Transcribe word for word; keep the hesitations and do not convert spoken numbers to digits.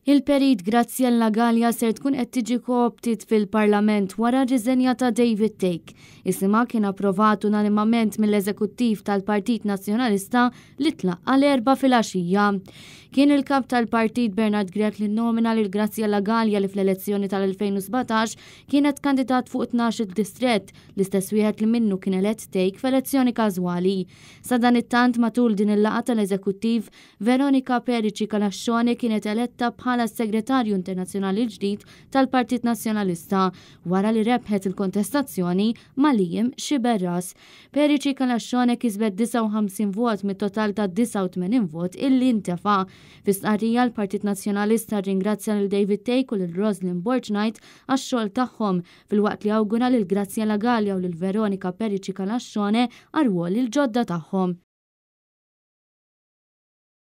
Il-Perit Graziella Galea ser tkun qed tiġi kooptit fil-Parlament wara r-riżenja ta' David Thake. Isimha kien approvat unanimament mill-Eżekuttiv tal-Partit Nazzjonalista li tlaqqa l-Erbgħa filgħaxija. Kien il-kap tal-partit Bernard Grech li nomina lil Graziella Galea, li fl-elezzjoni tal-elfejn u sbatax kienet kandidat fuq tnax-il distrett, l-istess wieħed li minnu kien elett Thake f'elezzjoni każwali. Sadanittant, matul din il-laqgħa tal-Eżekuttiv, Veronica Perici Calascione kienet eletta bħala s-Segretarju Internazzjonali l-ġdid tal-Partit Nazzjonalista wara li rebħet il-kontestazzjoni ma' Liam Sciberras. Perici Calascione kisbet disgħa u ħamsin vot mit-total ta' disgħa u tmenin vot illi intefa. Fi stqarrija, l-Partit Nazzjonalista ringrazzja lil David Thake u lil Roslyn Borg Knight għax-xogħol tagħhom, filwaqt li awgura lil Graziella Galea u lil Veronica Perici Calascione għar-rwol il-ġodda tagħhom.